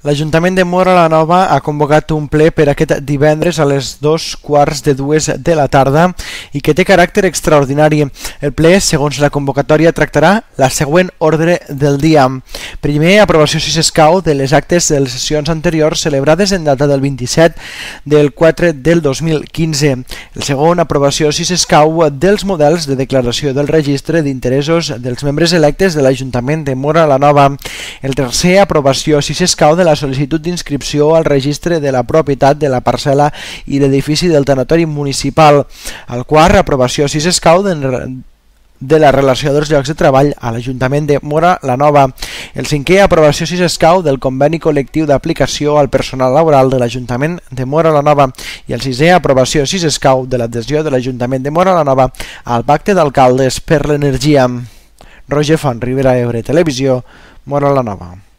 L'Ajuntament de Móra la Nova ha convocat un ple per aquest divendres a les 2:15 de la tarda i que té caràcter extraordinari. El ple, segons la convocatòria, tractarà la següent ordre del dia. Primer, aprovació si s'escau de les actes de les sessions anteriors celebrades en data del 27 del 4 del 2015. El segon, aprovació si s'escau dels models de declaració del registre d'interessos dels membres electes de l'Ajuntament de Móra la Nova. El tercer, aprovació si s'escau de la sol·licitud d'inscripció al registre de la propietat de la parcel·la i l'edifici del tanatori municipal. El quart, aprovació si s'escau de la relació dels llocs de treball a l'Ajuntament de Móra la Nova. El cinquè, aprovació si s'escau del conveni col·lectiu d'aplicació al personal laboral de l'Ajuntament de Móra la Nova. I el sisè, aprovació si s'escau de l'adhesió de l'Ajuntament de Móra la Nova al Pacte d'Alcaldes per l'Energia. Roger Font, Ribera Ebre Televisió, Móra la Nova.